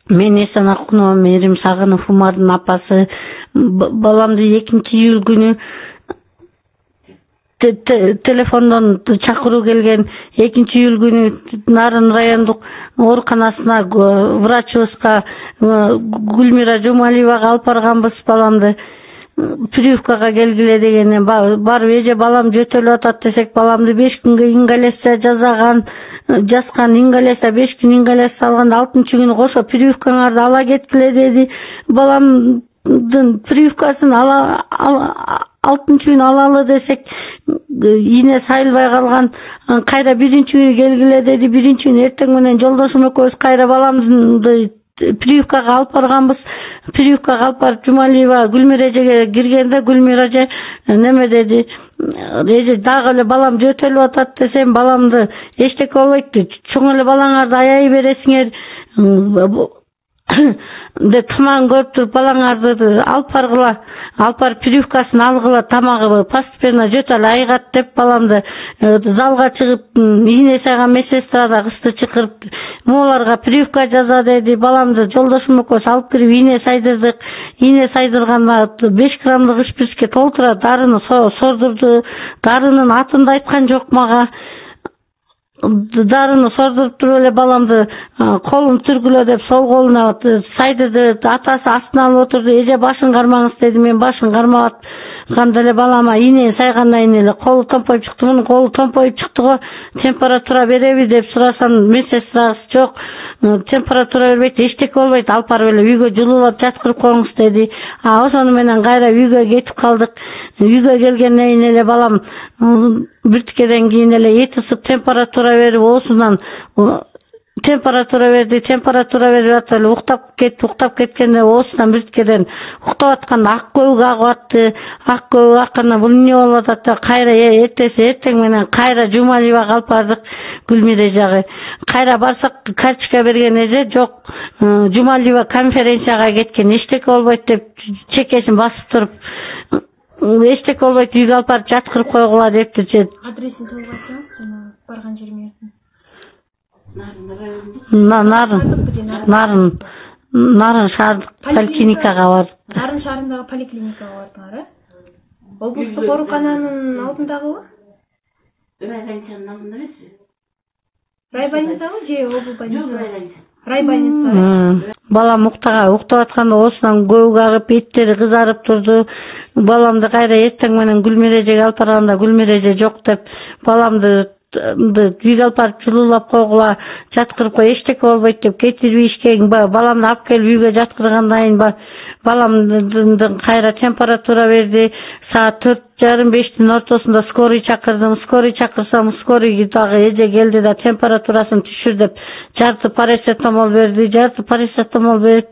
Мен Эсен Акунова, Мээрим Сагынов Умардын апасы. Баламды 2-июль күнү телефондон чакыруу келген. 2-июль күнү Нарын райондук ооруканасына врачыбызга Гүлмира Жумалиевага алып барганбыз баламды. Прививкага келгиле дегенде барып эже балам жөтөлүп атат десек, баламды 5 күнгө ингаляция жазган ингаляция 5 күн ингаляция алганда 6-чы күнү кошо прививкаңарды ала кеткиле деди. Баламдын прививкасын 6-чы күнү алалы десек, ийне сайылбай калган. Кайра 1-чи күнү келгиле деди. 1-чи күнү эртең менен жолдошум экөөбүз кайра баламды прививкага алып барганбыз. Прививкага алып барып Жумалиева Гүлмира эжеге киргенде Гүлмира эже неме деди. Эже дагы эле балам жөтөлүп атат десем, баламды эчтеке болбойт, чоң эле балаңарды аябай бересиңер деп тамагын көрүп туруп балаңарды алып баргыла, алып барып прививкасын алгыла, тамагы постепенно жөтөлүп айгат деп баламды залга чыгып ийне сайган медсестра да кызды чакырып могуларга прививка жаза деди. Баламды жолдошум экөөбүз алып кирип ийне сайдырдык. Ийне сайдырганда 5 граммдык шприцке толтура дарыны сордурду. Дарынын атын да айткан жок мага. Дарыны сордуруп туруп эле баламды колун түргүлө деп сол колуна сайдырды. Атасы астына алып отурду. Эже башын кармаңыз деди. Мен башын кармаганда эле балама ийне сайгандан кийин эле колу томпоюп чыкты. Мунун колу томпоюп чыкты го, температура береби деп сурасам, медсестрабыз жок, температура бербейт, эчтеке болбойт, алып барып эле үйгө жылуулап жаткырып коюңуз деди. Ошону менен кайра үйгө кетип калдык. Үйгө келгенден кийин эле балам биртикеден кийин эле эти ысып температура берип, оозунан температура берип атып эле уктап кеткенде оозунан биртикеден уктап атканда ак көбүк агып атты. Ак көбүк акканда бул эмне болуп атат деп кайра эртең менен кайра Жумалиевага алып бардык. Гүлмира эжеге кайра барсак, карточка берген эже жок, Жумалиева конференцияга кеткен, эчтеке болбойт деп чекесин басып туруп, эчтеке болбойт, үйгө алып барып жаткырып койгула депти. Адресин тууп айтсаңыз, жана барган жериңердин. Нарын шаардык поликлиникага бардык. Нарын шаарындагы поликлиникага бардыңар, э? Облустук оорукананын алдындагыбы? Райбольницанын алдында эмес? Райбольницабы же обл больница? Райбольница. Балам уктап атканда оозунан көбүк агып, беттери кызарып турду. Баламды кайра эртең менен Гүлмира эжеге алып барганда Гүлмира эже жок деп баламды үйгө алып барып жылуулап койгула, жаткырып кой, эчтеке болбойт деп кетирбейишкен. Баламды алып келип үйгө жаткыргандан кийин баламдын кайра температура берди. Саат 4:30-5-тин ортосунда скорый чакырдым. Скорый чакырсам, скорый дагы эже келди да температурасын түшүр деп жарты парацетамол берди. Жарты парацетамол берип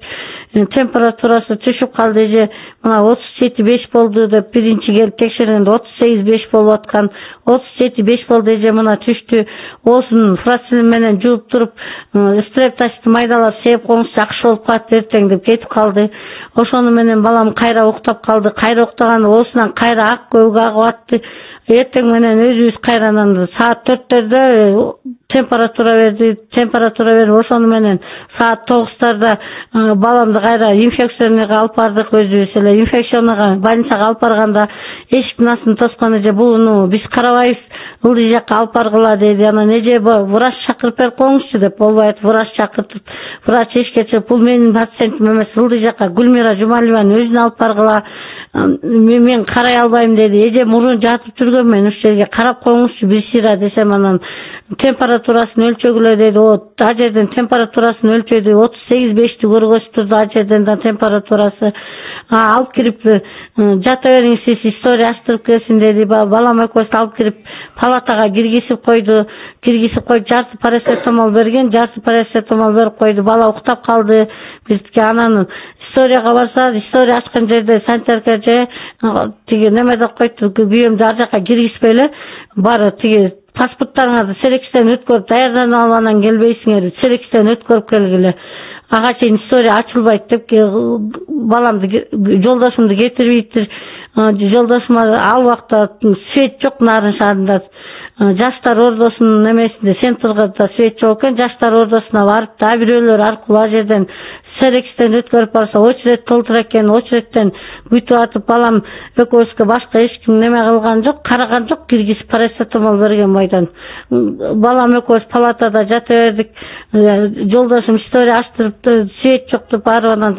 температурасы түшүп калды. Эже мына 37,5 болду деп биринчи келип текшергенде 38,5 болуп аткан. 37,5 болду, эже мына түштү. Оозун фрацелин менен жууп туруп, стрептачты майдалап сээп коюңуз, жакшы болуп калат эртең деп кетип калды. Ошону менен балам кайра уктап калды. Кайра уктаганда оозунан кайра ак көбүк агып атты. Эртең менен өзүбүз кайрадан саат 4-төрдө температура берип, ошону менен саат 9-тарда баламды кайра инфекционныйга алып бардык. Өзүбүз эле инфекционныйга больницага алып барганда эшиктин астын тоскон эже буну биз карабайбыз, ылдый жакка алып баргыла деди. Анан эже врач чакырып берип коюңузчу деп болбойт, врач чакыртып, врач эшикке чыгып, бул менин пациентим эмес, ылдый жакка Гүлмира Жумалиеванын өзүнө алып баргыла, мен карай албайм деди. Эже мурун жатып жүргөн, мен ушул жерге карап коюңузчу бир сыйра десем, анан температурасын өлчөгүлө деди. А жерден температурасын өлчөдү, 38,5-ти көргөзүп а жерден да температурасы. Алып кирип жата бериңиз, сиз история ачтырып келсин деди. Балам экөөбүздү алып кирип палатага киргизип койду. Жарты парацетамол берген, жарты парацетамол берип койду. Бала уктап калды. Бизге анан историяга барса, история ачкан жерде санитарка же тиги неме деп койту, күйөөмдү ар жака киргизбей эле бары тиги паспорттарыңарды серекчиден өткөрүп даярданып алып анан келбейсиңер, серекчиден өткөрүп келгиле. Ага чейин история ачылбайт деп баламды жолдошумду кетирбейтир. жолдошума ал убакта свет жок Нарын шаарында. Жаштар ордосунун эмесинде центрда свет жок экен. Жаштар ордосуна барып да бирөөлөр аркылуу ал жерден Серекстен өткөрүп барса, очеред толтура экен. Очередтен күтүп атып, балам экөөбүзгө башка эч ким неме кылган жок, караган жок, киргизип парацетамол берген бойдон. Балам экөөбүз палатада жата бердик. Жолдошум история ачтырып, свет жок деп барып анан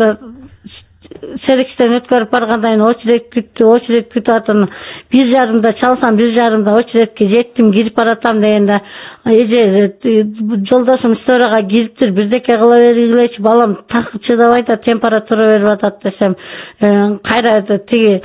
Серекстен өткөрүп баргандан кийин очеред күтүп атам. 1:30 чалсам, 1:30 очередке жеттим, кирип баратам дегенде эже жолдошум историяга кириптир, бирдеке кыла бергилечи, балам так чыдабай атат, температура берип атат десем, кайра тиги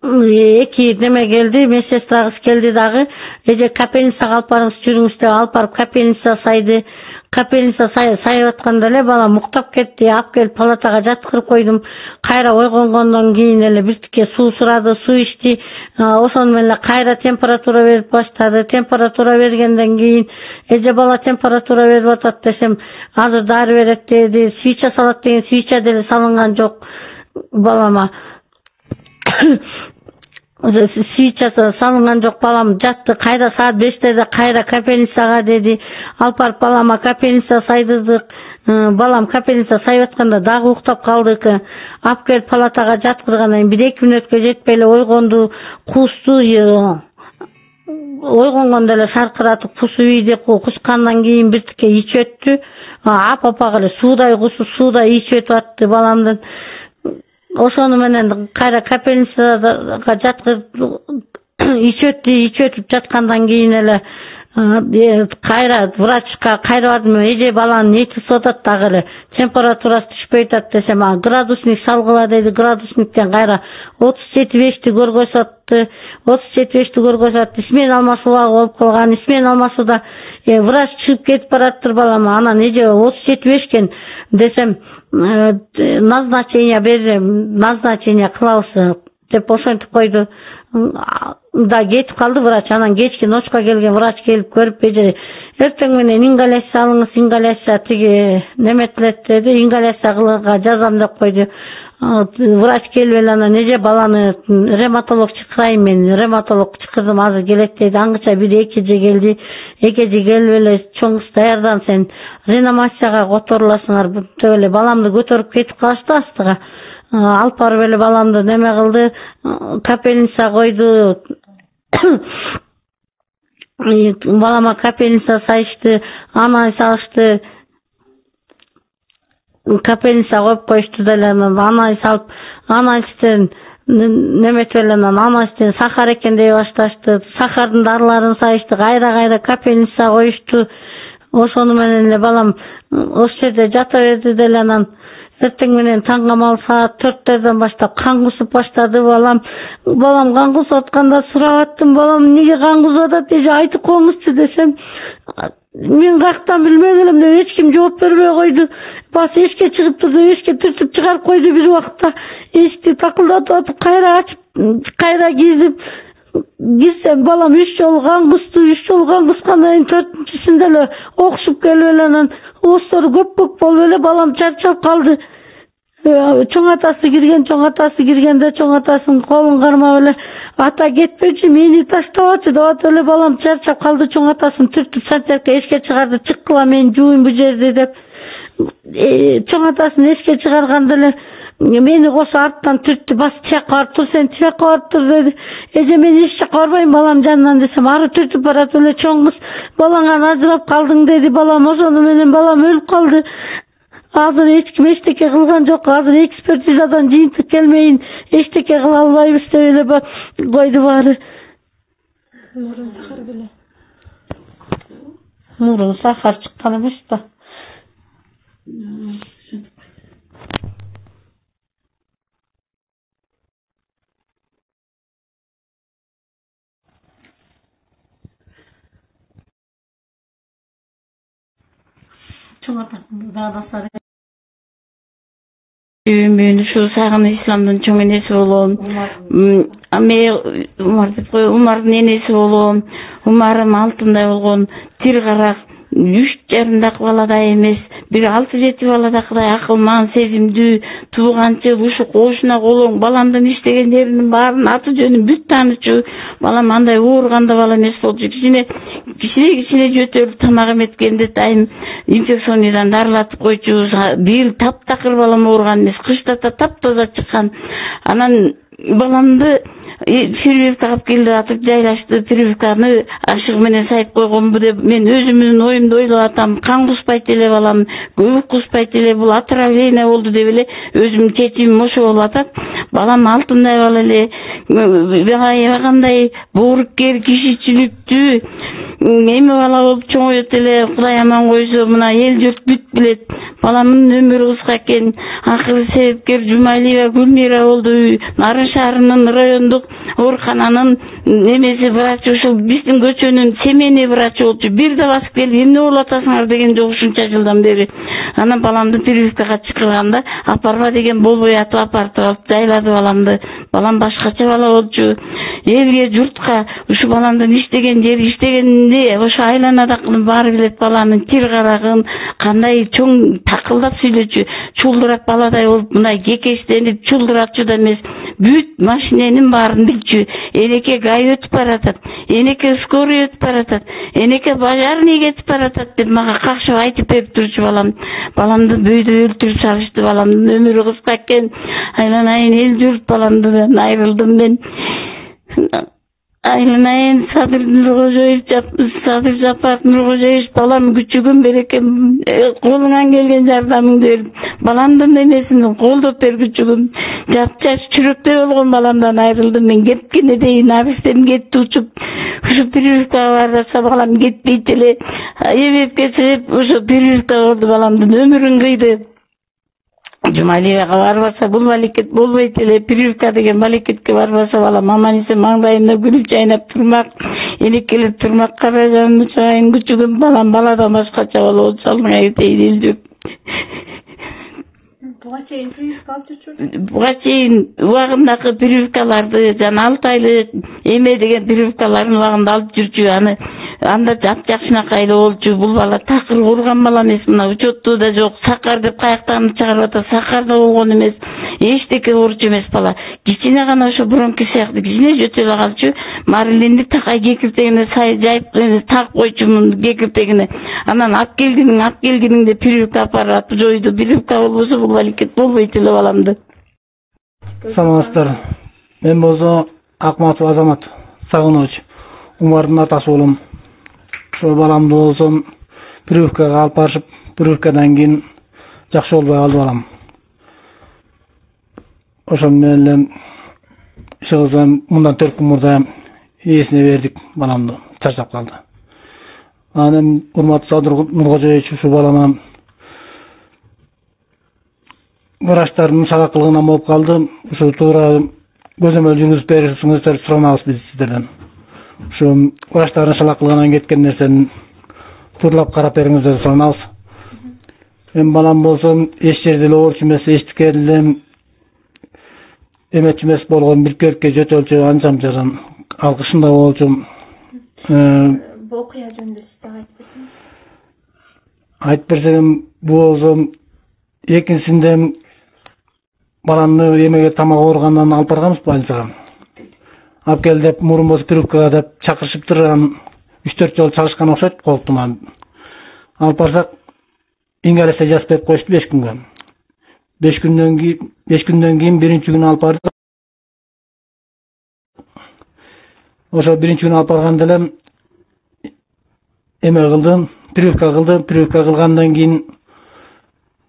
эки неме келди, медсестрагыз келди дагы, эже капельницага алып барыңыз, жүрүңүз деп алып барып капельница сайды. Капельница сайып атканда эле балам уктап кетти, алып келип палатага жаткырып койдум. Кайра ойгонгондон кийин эле биртике суу сурады, суу ичти. Ошону менен эле кайра температура берип баштады. Температура бергенден кийин эже бала температура берип атат десем, азыр дары берет деди. Свеча салат деген свеча деле салынган жок балама. Свечасы салынган жок, балам жатты. Кайра саат 5:00 кайра капельницага деди. Алып барып балама капельница сайдырдык. Балам капельница сайып атканда дагы уктап калдык. Алып келип палатага жаткыргандан кийин 1-2 мүнөткө жетпей эле ойгонду, кусту. Ойгонгондо эле шаркыратып кусуп ийди. Кускандан кийин биртике ичип өттү. Апа эле суудай кусуп, суудай ичип өтүп атты баламдын. Ошону менен кайра капельницага жаткырып ичип өтүп жаткандан кийин эле кайра врачка кайра бардым. Эже баланын нечиси атат дагы эле, температурасы түшпөй атат десем, градусник салгыла деди. Градусниктен кайра 37,5 көргөзөттү. 37,5 көргөзөт. Исмен алмашуулар болуп калган. Исмен алмашууда врач чыгып кетип бараттыр балама. Анан эже 37,5 экен десем, назначение берем, назначение кылабыз деп ошентип койду. Да кетип калды врач. Анан кечки ночко келген врач келип көрүп, эже эртең менен ингаляция алыңыз, ингаляция тиги неметилет деди, ингаляция кылууга жазам деп койду. Врач келип эле анан эже баланы ревматолог чакырайын, мен ревматолог чакырдым, азыр келет деди. Аңгыча 1-2 келди. Экеji келип эле чоң даярдан, сен реанимацияга которуласыңар деп эле баламды көтөрүп кетип калышты астыга. Алып барып эле баламды неме кылды, капельница койду. Балама капельница сайышты, анализ алышты. Капельница коюп коюшту деле, анализ алып, анализден неметип эле анализден сахар экен дей башташты. Сахардын дарыларын сайышты, кайра капельница коюшту. Ошону менен эле балам ошол жерде жата берди деле. Анан эртең менен таңгамал саат 4-терден баштап кан кусуп баштады балам. Балам кан кусуп атканда сурап аттым, балам эмнеге кан кусуп атат, эже айтып коюңузчу десем, мен каяктан билбей элем деп эч ким жооп бербей койду. Бас эшикке чыгып турду, эшикке түртүп чыгарып койду. Бир убакта эшикти такылдатып атып, кайра ачып, кайра кирсем балам 3 жолу кан кусту. 3 жолу кан кускандан кийин 4-чүсүндө эле окшуп келип эле анан оозтору көк болуп эле балам чарчап калды. Чоң атасы киргенде чоң атасынын колун кармап эле, ата кетпечи, мени таштабачы деп атып эле балам чарчап калды. Чоң атасын түртүп сантиякка эшикке чыгарды, чыккыла мен жууйм бу жерди деп. Чоң атасын эшикке чыгарганда эле мени кошо арттан түрттү, бас тияка барып тур, сен тияка барып тур деди. Эже мен эч жака барбайм балам жанынан десем, ары түртүп баратып эле чоң кыз балаңан ажырап калдың деди балам. Ошону менен балам өлүп калды. Азыр эч ким эчтеке кылган жок. Азыр экспертизадан жыйынтык келмейин, эчтеке кыла албайбыз деп эле койду баары. Мурун сахар беле. Мурун сахар чыккан эмес да. Чоң атасында да басары. Мен ушу сагын исламдын чоң энеси болом. Умардын энеси болом. Умарым алтындай болгон, тил карак, 3 жарымдак баладай эмес, бир 6-7 бала да Кудай акылман, сезимдүү, тууганчы, ушу кошуна колоң, баламдын иштеген жеринин баарын аты жөнүн бүт таанычу. Балам андай ооруганда бала эмес болчу. Кичине жөтөлүп тамак эметкенде дайым инфекционныйдан дарылатып койчу. Бир таптакыр балам ооруган эмес, кышта таптаза чыккан. Анан баламды прививка алып келип атып жайлашты. Прививканы ашыгы менен сайып койгонбу деп мен өзүмдүн оюмду ойлоп атам. Кан куспайт эле балам, көбүк куспайт эле, бул отравление болду деп эле өзүмдүн чечимим ошо болуп атат. Балам алтындай бала эле, аябагандай бооруккер, кишичиликтүү эми бала болуп чоңойот эле. Кудай аман койсо мына эл журт бүт билет. Баламдын өмүрү кыска экен. Акыры себепкер Жумалиева Гүлмира болду. Нарын шаарынын райондук оорукананын немеси врачы, ушул биздин көчөнүн семейный врачы болчу. Бир да басып келип эмне болуп атасыңар деген жок ушунча жылдан бери. Анан баламды прививкага чакырганда апарба деген болбой атып апартып алып жайлады баламды. Балам башкача бала болчу. Элге, журтка ушу баламдын иштеген жери, иштегенди ошо айланадакынын баары билет. Баланын кир карагын кандай чоң такылдап сүйлөчү, чулдурап баладай болуп мындай кекештенип чулдурачу да эмес. Бүт машиненин баарын билчү. Энеке гай өтүп баратат, энеке скорый өтүп баратат, энеке пожарный кетип баратат деп мага какшып айтып берип турчу балам. Баламды бөйдө өлтүрүп салышты. Баламдын өмүрү кыска экен. Айланайын эл журт, баламдан айрылдым мен. Айланайын Садыр Жапаров Нуркожоевич, балам күчүгүм берекем, колуңан келген жардамыңды берип, баламдын эмесин колдоп бер күчүгүм. Жапчаш чүрөктөй болгон баламдан айрылдым мен. Кеткене дейин абистем кетти учуп. Ушу прививкага барса балам кетпейт эле. Эбепке себеп ушу прививка болду, баламдын өмүрүн кыйды. Жумалиевага барбаса бул балекет болбойт эле. Прививка деген балекетке барбаса балам аман эсен маңдайында күлүп жайнап турмак, энекелеп турмак. Кара жанымды чыгайын күчүгүм, балам баладан башкача бала болуп салдың айтейин элдик. Буга чейин прививка алып жүрчү? Буга чейин убагындагы прививкаларды, жана 6 айлык эме деген прививкаларын убагында алып жүрчү. Анда жакшынакай эле болчу. Бул бала такыр ооруган бала эмес, мына учетту да жок. Сакар деп каяктан чыгарып атат, сакар да болгон эмес. Эчтеке ооручу эмес бала. Кичине гана ошо бронки сыяктуу кичине жөтөлө калчу. Марилинди такай кекиртегине жайып тагып койчумун кекиртегине. Анан алып келгениңде прививка аппараты жойду. Прививка болбосо бул балекет болбойт эле баламды. Саламатсыздар. Мен болсо Акматов Азамат Сагынович, Умардын атасы болом. Ошо баламды болсом прививкага алып барышып, прививкадан кийин жакшы болбой калды балам. Ошол менен эле иши мындан 4 күн мурда ээсине бердик баламды, чарчап калды. Анан урматтуу Садыр Нуркожоевич ушу балама врачтардын сабак кылгынан болуп калды. Ушу туура көзөмөл жүргүзүп беришиңиздер сурамабыз биз сиздерден. Ушу врачтардын сабак кылгынан кеткен нерсени тууралап карап бериңиздер сурамабыз. Мен балам болсом эч жерде эле ооручу эмес, эчтеке эле эметчү эмес болгон, бирке жөтөлчү, анчам алкышында болчу. Бул окуя жөнүндө сиз дагы айтып берсем, бул болсо экинчисинде баламды эмеге тамак ооругандан алып барганбыз больницага. Алып кел деп мурун болсо прививкага деп чакырышыптыр. 3-4 жолу чагышкан окшойт колтума. Алып барсак ингаляция жазып берип коюшту 5 күнгө. 5 күндөн кийин биринчи күнү алып бардык. Ошо биринчи күнү алып барганда эле эме кылды, прививка кылды. Прививка кылгандан кийин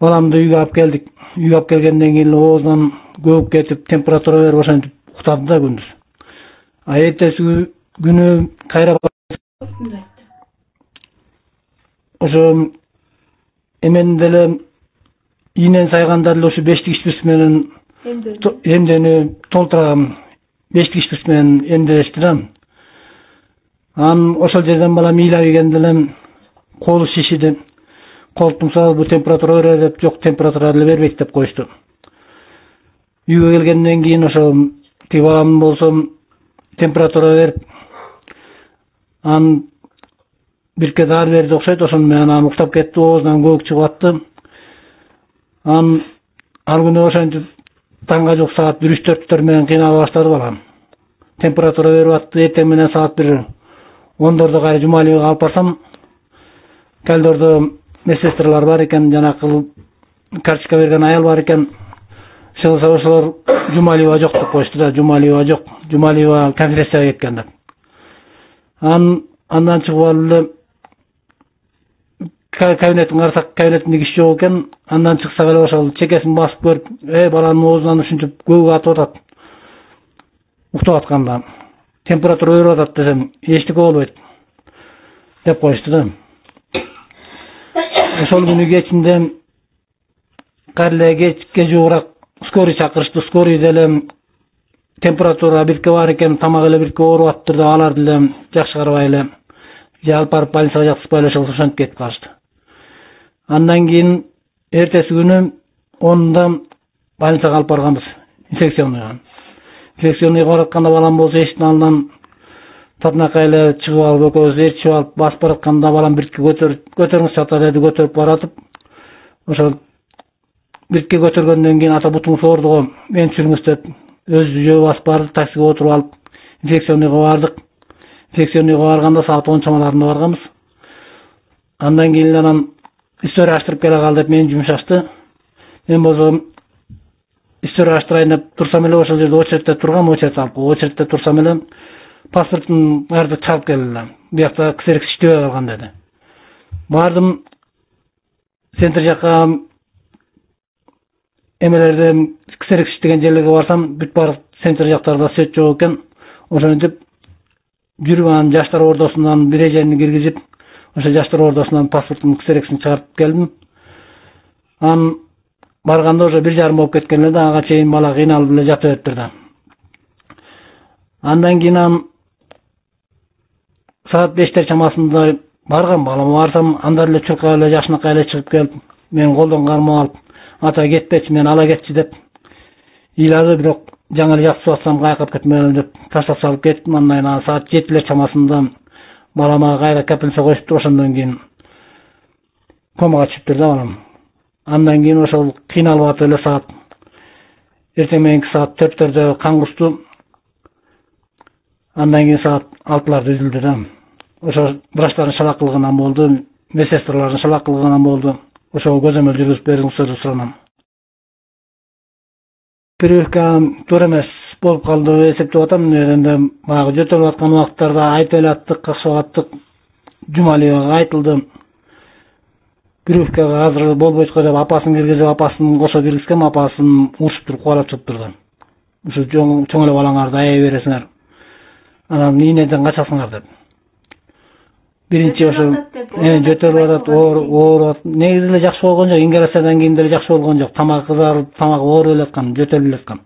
баламды үйгө алып келдик. Үйгө алып келгенден кийин оозунан көбүк кетип, температура берип ошентип уктады да күндүз. Эртеси күнү кайра ошо эмен деле ийнен сайганда эле ошо бештик ишпирс менен эмдени толтурган. Бештик ишпирс менен эмделешти да. Анан ошол жерден балам ыйлап ийгенде эле колу шишиди. Колтуң сабы бу температура берер деп, жок температура эле бербейт деп коюшту. Үйгө келгенден кийин ошо тиги балам болсо температура берип, анан бирке дары берди окшойт, ошону менен анан уктап кетти, оозунан көбүк чыгып атты. Ал күнү ошентип таңга жок саат 1-4 менен кыйнала баштады балам. Температура берип атты. Эртең менен саат 1-10 кайра Жумалиевге алып барсам, коридордо медсестралар бар экен, жанакы карточка берген аял бар экен. Ошолор Жумалиева жок деп коюшту да. Жумалиева жок. Жумалиева конференцияга кеткен деп. Андан чыгып алып кабинеттин карасак, кабинеттинде киши жок экен. Андан чыксак эле ошол чекесин басып көрүп, баланын оозунан ушинтип көбүк атып атат. Уктап атканда температура өбүп атат десем, эчтеке болбойт деп коюшту да. Ошол күнү кечинде кайра кечке жуурак скорый чакырышты. Скорый деле температура бирке бар экен, тамак эле бирке ооруп атыптыр деп алар деле жакшы карабай эле же алып барып больницага жаткызбай эле ошентип кетип калышты. Андан кийин эртеси күнү 10-да больницага алып барганбыз, инфекционныйга. Инфекционныйга баратканда балам болсо эшиктин алдынан татынакай эле чыгып алып, экөөбүз ээрчип алып басып баратканда балам бирке көтөрүңүз ата деди, көтөрүп баратып, ошол бирке көтөргөндөн кийин ата бутуңуз ооруду, мени түшүрүңүз деп өзү жөө басып барды, таксиге отуруп алып инфекционныйга бардык. Инфекционныйга барганда саат 10 чамаларында барганбыз. Андан кийин анан история аштырып келе кал деп мени жумшашты. Мен болсо история аштырайын деп турсам эле ошол жерде очередте тургам, очередте турсам эле паспортун карды чалып келди. Биякта ксерекс иштебей калган деди. Бардым центр жака, эмелерде ксерекс иштеген жерлерге барсам, бүт баардык центр жактарда свет жок экен. Ошентип жүрүп анан жаштар ордосунан бир эжени киргизип, ошо жаштар ордосунан паспорттун ксерексин чыгарып келдим. Анан барганда уже 1:30 болуп кеткен эле да, ага чейин бала кыйналып эле жатып атыптыр да. Андан кийин саат 5 чамасында барган балам, барсам анда эле чуркап эле жашынакай эле чыгып келип, мен колдон кармап алып, ата кетпечи, мен ала кетчи деп ыйлады, бирок жаңы эле жатып атсам кайкап кетмелим деп таштап салып кеттим. Андан кийин саат 7 чамасында балама кайра капельница коюштур, ошондон кийин комага түшүптүр да балам. Андан кийин ошол кыйналып атып эле саат эртең мененки саат 4-төрдө кан кусту. Андан кийин саат 6-ларда үзүлдү да. Ошо врачтардын шалакылыгынан болду, медсестралардын шалакылыгынан болду. Ошого көзөмөл жүргүзүп бериңиздер деп суранам. Прививка туура эмес болуп калды деп эсептеп атам. Энди баягы жөтөлүп аткан убакыттарда айтып эле аттык, какшап аттык. Жумалиевага айтылды. Прививкага азыр болбойт го деп апасын киргизип, апасын кошо киргизгем, апасын урушуп туруп кубалап чыгыптыр да. Ушу чоң эле балаңарды аяй бересиңер. Анан ийнеден качасыңар деп. Биринчи ошо жөтөлүп атат, ооруп, негизи эле жакшы болгон жок, ингаляциядан кийин деле жакшы болгон жок. Тамак кызарып, тамак ооруп эле аткан, жөтөлүп эле аткан.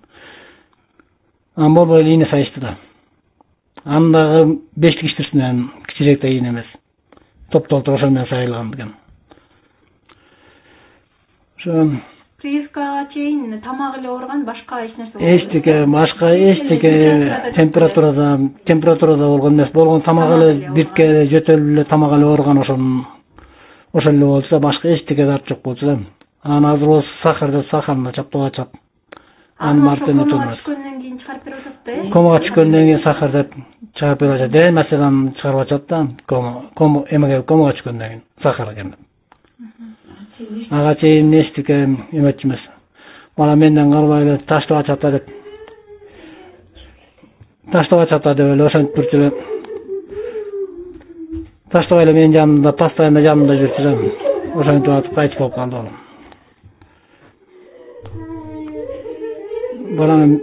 Анан болбой эле ийне сайышты да. Анын дагы 5-тик иштирсин менен, кичирээк да ийне эмес. Топ-толтур ошол менен сайылган экен. Ошо прививкага чейин тамак эле ооруган, башка эч нерсе эчтеке температурада болгон эмес, болгон тамак эле бирке жөтөлүп эле тамак эле ооруган, ошол эле болчу да, башка эчтеке дарт жок болчу да. Анан азыр болсо сахарында чаптап ачат. Анын мартыны турмас. Түшкөндөн кийин чыгарып берип атат да. Комага түшкөндөн кийин сахар деп чыгарып берип атат. Маселен чыгарып ачат да, комага түшкөндөн кийин сахар экен. Ага чейин эчтеке эметчү эмес. Бала менден калбай эле таштап ачат деп. Таштап ачат деп эле ошентип жүрчү эле. Таштабай эле менин жанымда, постоянно жанымда жүрчү да. Ошентип атып кайтып болуп калды балам. Балам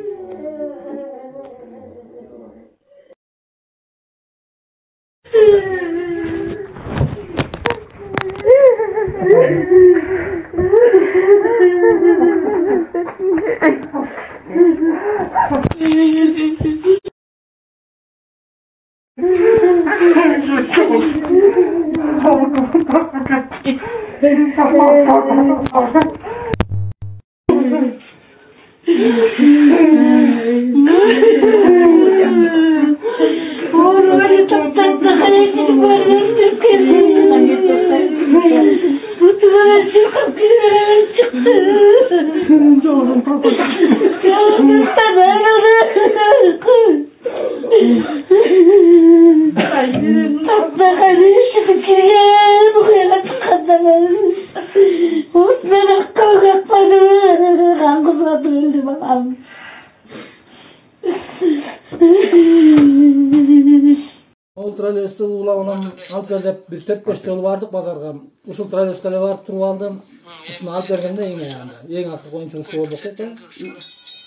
Ол троллейбусту улабынан алып бер деп бир 4-5 жолу бардык базарга. Ушул троллейбуска эле барып туруп алдым. Ушуну алып бергенде эң аягында. Эң акыркы оюнчулук ушул болду окшойт.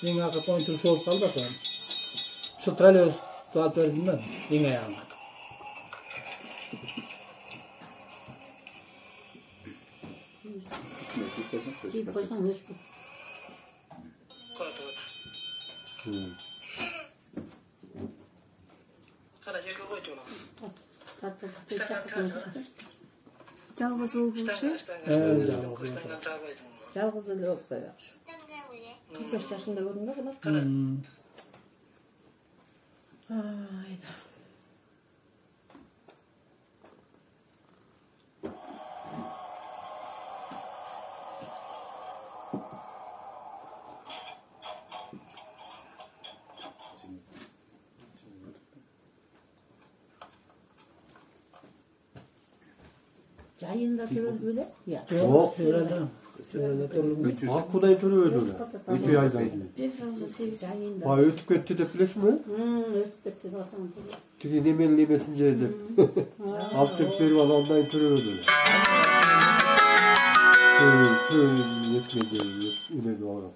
Эң акыркы оюнчулук ушул болуп калды ошо. Ушул троллейбусту алып бердим да эң аягында. Тип койсоң өчпөйт. Кара жерге койчу ана. Жалгыз уул болчу. Жалгыз эле болуп койгончу. 45 жашында көрдүм да кызмат. Айда. Жайында төрөлбү эле? Жок. Акудай төрөбөдү эле. 2 айдан кийин. 8 айында. Өтүп кетти деп билесиңби? Өтүп кетти деп атам. Тиги неменин эмесин же деп. Алып деп берип алгандан төрөбөдү эле. Этмеди, эмеди алат.